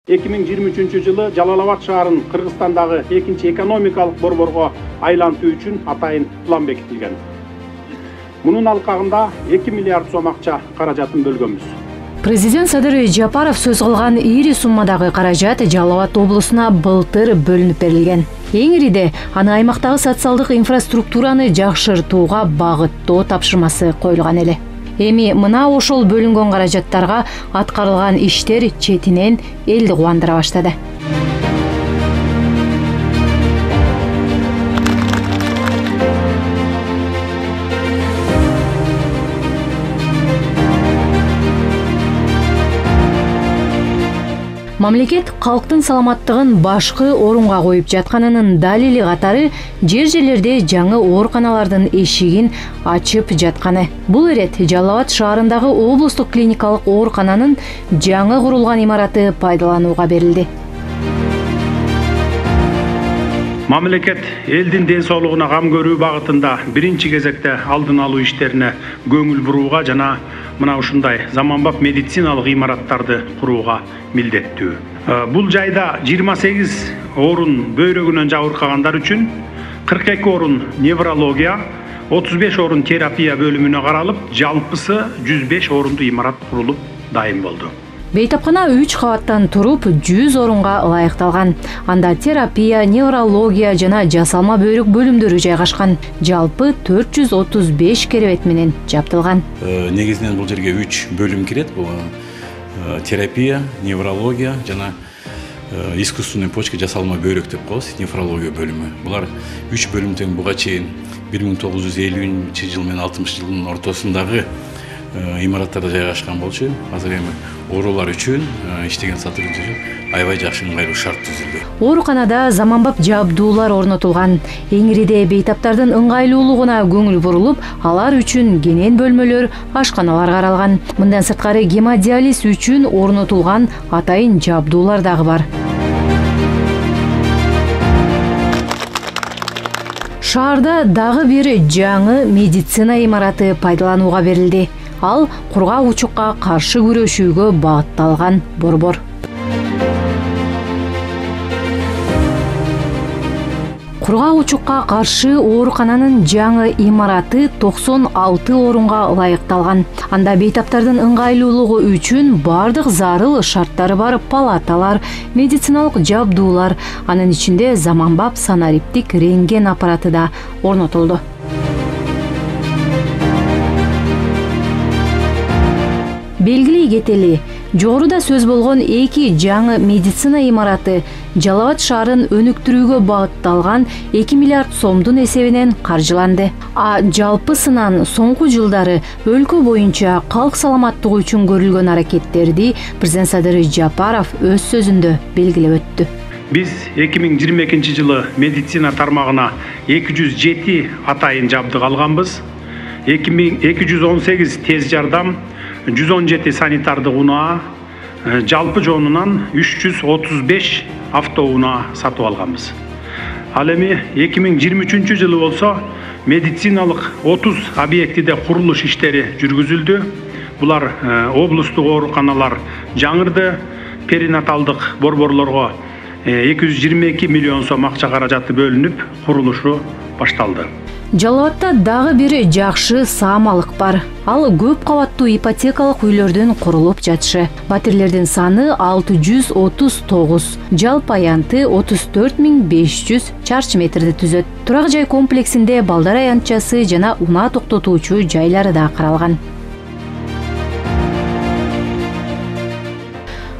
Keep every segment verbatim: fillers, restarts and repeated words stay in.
эки миң жыйырма үчүнчү жылы Жалал Абад шаарын Кыргызстандагы экинчи экономикалык борборго айлантуу үчүн атайын план бекитилген. Мунун алкагында эки миллиард сом акча каражатын бөлгөнбүз. Президент Садыр Жапаров сөз кылган ири суммадагы каражат Жалал Абад облусуна былтыр бөлүнүп берилген. Эң ириде аны аймактагы социалдык инфраструктураны жакшыртууга багыттоо тапшырмасы коюлган эле. Эми мына ошол бөлүнгөн каражаттарга аткарылган иштер четинен элди кубандыра баштады. Мамлекет калктын саламаттыгын башкы орунга коюп жатканынын далили катары жер жерлерде жаңы ооруканалардын эшигин ачып жатканы. Бул ирет Жалал Абад шаарындагы облустук клиникалык оорукананын жаңы курулган имараты пайдаланууга берилди. Мамлекет элдин ден соолугуна кам көрүү багытында биринчи кезекте алдын алуу иштерине көңүл бурууга жана мына ушундай заманбап медициналык имараттарды курууга милдеттүү. Бул жайда жыйырма сегиз орун бөйрөгүнөн жабыркагандар үчүн, кырк эки орун неврология, отуз беш орун терапия бөлүмүнө каралып, жалпысы жүз беш орундуу имарат курулуп дайын болду. Бейтапкана үч кабаттан туруп жүз орунга ылайыкталган. Анда терапия, неврология жана жасалма бөйрөк бөлүмдөрү жайгашкан. Жалпы төрт жүз отуз беш керебет менен жабдылган. Негизинен бул жерге үч бөлүм кирет. Бул терапия, неврология жана искусственный почка жасалма бөйрөк деп коебуз, нефрология бөлүмү. Булар үч бөлүмдөн буга чейин бир миң тогуз жүз элүүнчү жыл менен алтымыш жылдын ортосундагы имараттарда жайгашкан болчу. Азыр эми оорулар үчүн иштеген сотрудниктер үчүн аябай жакшы ыңгайлуу шарт түзүлдү. Ооруканада заманбап жабдуулар орнотулган. Эң ириде бейтаптардын ыңгайлуулугуна көңүл бурулуп, алар үчүн кенен бөлмөлөр, ашканалар каралган. Мындан сырткары гемодиализ үчүн орнотулган атайын жабдуулар дагы бар. Шаарда дагы бир жаңы медицина имараты пайдаланууга берилди. Ал кургак учукка каршы күрөшүүгө багытталган борбор. Кургак учукка каршы оорукананын жаңы имараты токсон алты орунга ылайыкталган. Анда бейтаптардын ыңгайлуулугу үчүн бардык зарыл шарттары бар палаталар, медициналык жабдуулар, анын ичинде заманбап санариптик рентген аппараты да орнотулду. Белгилей кетели, жогоруда сөз болгон эки жаңы медицина имараты Жалал Абад шаарын өнүктүрүүгө багытталган эки миллиард сомдун эсебинен каржыланды. А жалпысынан соңку жылдары өлкө боюнча калк саламаттыгы үчүн көрүлгөн аракеттерди президент Садыр Жапаров өз сөзүндө белгилеп өттү. Биз эки миң жыйырма экинчи жылы медицина тармагына эки жүз жети атайын жабдык алганбыз. эки жүз он сегиз тез жардам, жүз он жети санитардык унаа, жалпы жонунан үч жүз отуз беш автоунаа сатып алганбыз. Ал эми эки миң жыйырма үчүнчү жылы болсо медициналык отуз объектиде курулуш иштери жүргүзүлдү. Булар облустук ооруканалар жаңырды, перинаталдык борборлорго эки жүз жыйырма эки миллион сом акча каражаты бөлүнүп, курулушу башталды. Жалал Абадта дагы бир жакшы саамалык бар. Ал көп кабаттуу ипотекалык үйлөрдүн курулуп жатышы. Батирлердин саны алты жүз отуз тогуз, жалпы аянты отуз төрт миң беш жүз чарчы метрди түзөт. Турак жай комплексинде балдар аянтчасы жана унаа токтотуучу жайлары да каралган.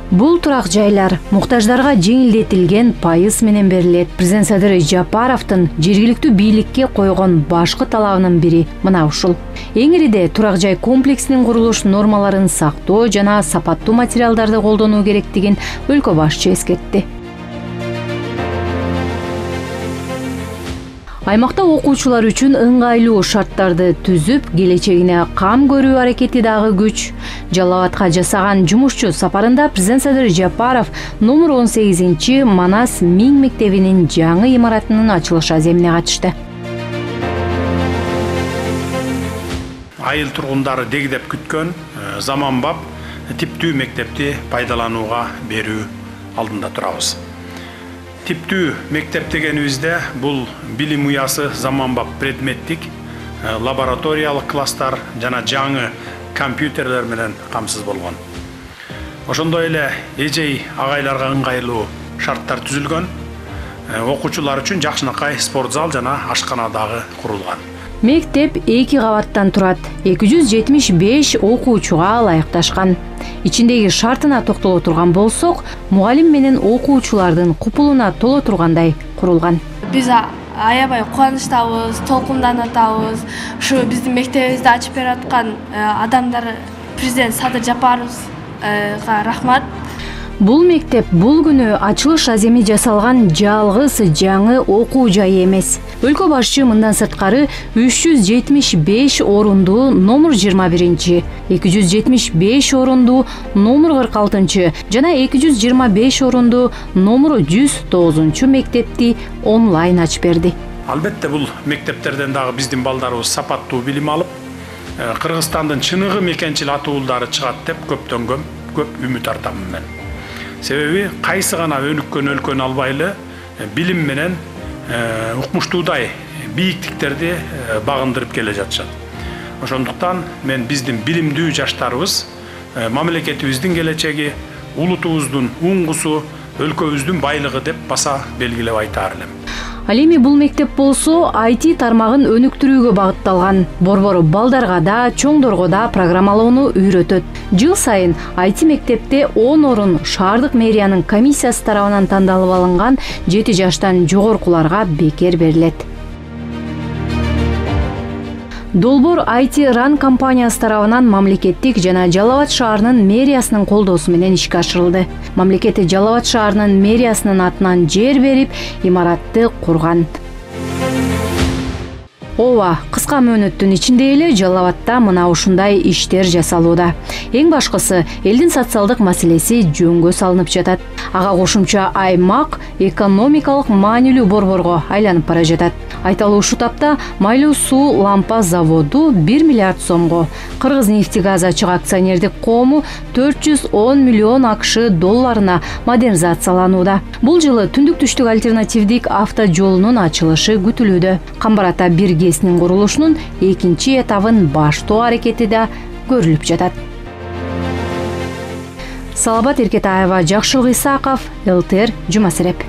Бул турак жайлар муктаждарга жеңилдетилген пайыз менен берилет. Президент Садыр Жапаровдун жергиликтүү бийликке койгон башкы талабынын бири мына ушул. Эң ириде турак жай комплексинин курулуш нормаларын сактоо жана сапаттуу материалдарды колдонуу керектигин өлкө башчы эскертти. Аймакта окуучулар үчүн ыңгайлуу шарттарды түзүп, келечегине кам көрүү аракети дагы күч. Жалал Абадка жасаган жумушчу сапарында президент Садыр Жапаров номер он сегизинчи Манас Миң мектебинин жаңы имаратынын ачылыш аземине катышты. Айыл тургундары дегдеп күткөн заманбап типтүү мектепти пайдаланууга берүү алдында турабыз. Типтүү мектеп дегенибизде бул билим уясы заманбап предметтик, лабораториялык класстар жана жаңы компьютерлер менен камсыз болгон. Ошондой эле эжей агайларга ыңгайлуу шарттар түзүлгөн. Окуучулар үчүн жакшынакай спорт зал жана ашкана дагы курулган. Мектеп эки кабаттан турат, эки жүз жетимиш беш окуучуга ылайыкташкан. Ичиндеги шартына токтоло турган болсок, мугалим менен окуучулардын купулуна толо тургандай курулган. Биз аябай кубанычтабыз, толкунданып атабыз. Ушу биздин мектебибизди ачып берип аткан адамдар президент Садыр Жапаровга рахмат. Бул мектеп бул күнү ачылыш аземи жасалган жалгыз жаңы окуу жайы эмес. Өлкө башчы мындан сырткары үч жүз жетимиш беш орундуу номер жыйырма биринчи, эки жүз жетимиш беш орундуу номер кырк алтынчы жана эки жүз жыйырма беш орундуу номер жүз тогузунчу мектепти онлайн ачып берди. Албетте бул мектептерден дагы биздин балдарыбыз сапаттуу билим алып, Кыргызстандын чыныгы мекенчил атуулдары чыгат деп көптөн көп көп үмүт артамын мен. Себеби кайсы гана өнүккөн өлкөнү албайлы билим менен укмуштуудай бийиктиктерди багындырып келе жатышат. Ошондуктан мен биздин билимдүү жаштарыбыз мамлекетибиздин келечеги, улутубуздун уңгусу, өлкөбүздүн байлыгы деп баса белгилеп айтаар элем. Ал эми бул мектеп болсо ай ти тармагын өнүктүрүүгө багытталган. Борбору балдарга да, чоңдорго да программалоону үйрөтөт. Жыл сайын ай ти мектепте он орун шаардык мэриянын комиссиясы тарабынан тандалып алынган жети жаштан жогоркуларга бекер берилет. Долбоор ай ти Run компаниясы тарабынан мамлекеттик жана Жалал Абад шаарынын мэриясынын колдоосу менен ишке ашырылды. Мамлекет Жалал Абад шаарынын мэриясынын атынан жер берип, имаратты курган. Ооба, кыска мөөнөттүн ичинде эле Жалал Абадта мына ушундай иштер жасалууда. Эң башкысы элдин социалдык маселеси жөнгө салынып жатат. Ага кошумча аймак экономикалык маанилүү борборго айланып бара жатат. Айталы ушул тапта майлуу суу лампа заводу бир миллиард сомго, Кыргызнефтегаз ачык акционердик коому төрт жүз он миллион акш долларына модернизацияланууда. Бул жылы түндүк түштүк альтернативдик автожолунун ачылышы күтүлүүдө. Камбар ата бир ГЭСнин курулушунун экинчи этабын баштоо аракети да көрүлүп жатат. Салабат Эркетаева, Жакшылык Исаков, эл тэ эр Жума Сереп.